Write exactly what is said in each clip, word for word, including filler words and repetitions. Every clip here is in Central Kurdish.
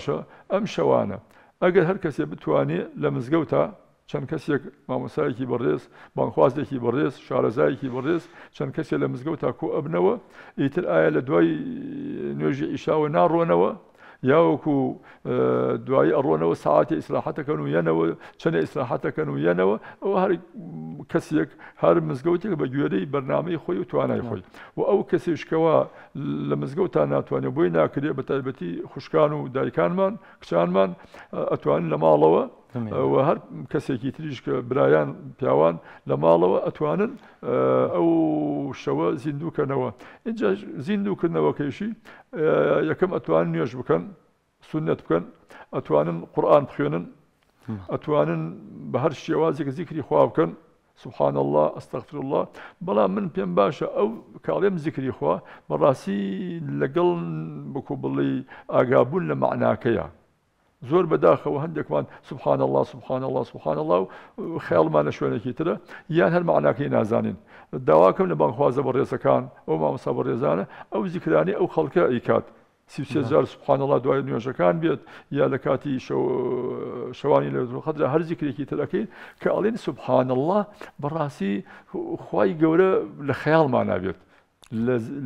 باشە ئەم شەوانە ئەگەر هەر کەسێ بتوانێت لە مزگەوتا چەند کەسێک مامۆسایەکی بەڕێز، بانخوازێکی بەڕێز، شارەزایەکی بەڕێز، چەند کەسێک لە مزگەوتا کۆ ئەبنەوە، ئیتر ئایا لە دوای نوێژی عیشاوە ناڕۆنەوە یاوەکو دوایی ئەڕۆنەوە ساعتی ئیسراحەتەکەن و یەنەوە چەندە ئیسراحەتەکەن و یەنەوە، ئەوە هەر کەسێک هەر مزگەوتێک بە گوێرەی بەرنامەی خۆی و توانای خۆی و ئەو کەسێشکەوە لە مزگەوتا ناتوانێت بۆی ناکرێت بە تایبەتی خوشکان و دایکانمان کچانمان ئەتوانن لە ماڵەوە و هەر کەسێکی تریش کە برایان پیاوان لە ماڵەوە ئەتوانن ئەو شەوە زیندووکەنەوە. اینجا زیندووکردنەوەکەیشی یەکەم ئەتوانن نوێژ بکەن، سوننەت بکەن، ئەتوانن قورئان بخوێنن، ئەتوانن بە هەر شێوازێک زیکری خوا بکەن، سبحان الله، استغفر الله. بەڵام من پێم باشە ئەو کاڵێم زیکری خوا بەڕاستی لەگەڵ بکو بڵێ ئاگابوون لە مەعناکەیە. زۆر بەداخەوە هەندێکمان سبحان الله سبحان الله سبحان الله و خەیاڵمان لە شوێنێکی ترە یان هەر مەعناکەی نازانین. داواکەم لە بانخوازە بەڕێزەکان ئەو مامۆستا بەڕێزانە ئەو زیکرانەی ئەو خەڵکە ئەیکات سی و سێ جار سبحان الله دوای نوێژەکان بێت یا لە کاتی شەوانی لەیلەتول قەدرا هەر زیکرێکی تر ئەکەین کە ئەڵێن سبحان الله بەڕاستی خوای گەورە لە خەیاڵمانا بێت،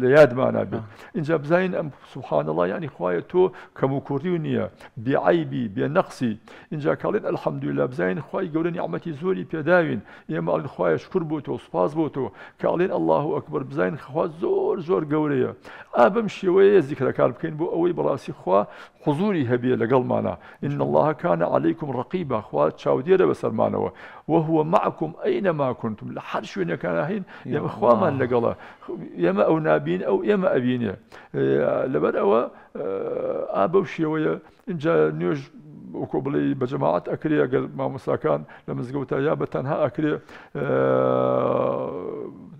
لە یادمانا بێت. اینجا بزانین ئەم سبحان الله یعنی خوایە تۆ کەم و کوڕی و نییە، بێعەیبی بێنەقسی. اینجا کاڵێن الحەمدولله بزانین خوای گەورە نیعمەتی زۆری پێداوین، ئێمە ئەڵێن خوایە شکر بۆ تۆ، سوپاس بۆ تۆ. کە ئەڵێن ئەللاهو ئەکبەر بزانین خوا زۆر زۆر گەورەیە. ئا بەم شێوەیە زیکرەکار بکەین بۆ ئەوەی بەڕاستی خوا حزوری هەبێ لەگەڵمانە. إن الله كان عليكم رقيبا، خوا چاودێرە بەسەرمانەوە. وهو معكم أينما كنتم، لە هەر شوێنێکانە هەین ئێمە خوامان لەگەڵە، ئێمە ئەو نابین ئەو ئێمە ئەبینێ. لەبەر ئەوە ئا بەو شێوەیە اینجا نوێژ وەکو بڵێ بە جەماعەت ئەکرێ ئەگەر مامۆستاکان لە مزگەوتا یا بە تەنها ئەکرێ.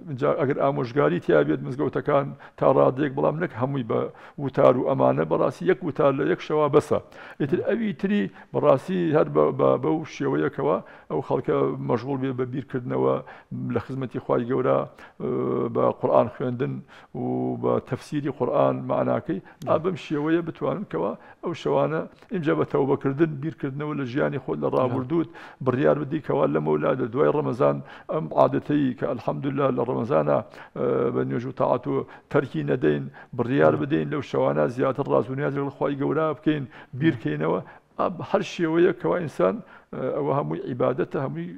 اینجا ئەگەر ئامۆژگاری تیا بێت مزگەوتەکان تا ڕادێک، بەڵام نەک هەمووی بە وتار و ئەمانە، بەڕاستی یەک وتار لە یەک شەوا بەسە. ئیتر ئەوی تری بەڕاستی هەر بەو شێوەیەکەوە ئەو خەڵکە مەشغوڵ بێ بە بیرکردنەوە لە خزمەتی خوای گەورە بە قورئان خوێندن و بە تەفسیری قورئان مەعناکەی، ئا بەم شێوەیە بتوانن کەوا ئەو شەوانە ئینجا بە تەوبەکردن بیرکردنەوە لە ژیانی خۆت لە ڕابردووت بڕیار بدەی کەوا لەمەولا لە دوای ڕەمەزان ئەم عادەتەی کە الحەمدلله لە ڕەمەزانە بە نوێژ و تاعەت و تەرکی نەدەین، بڕیار بدەین لەو شەوانە زیاتر ڕاز و نیاز لەگەڵ خوای گەورە بکەین، بیرکەینەوە. هەر شێوەیە کەوا ئینسان ئەوە هەمووی عیبادەتە، هەمووی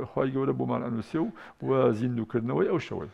خوای گەورە بۆمان ئەنووسێ و زیندووکردنەوەی ئەو شەوەی.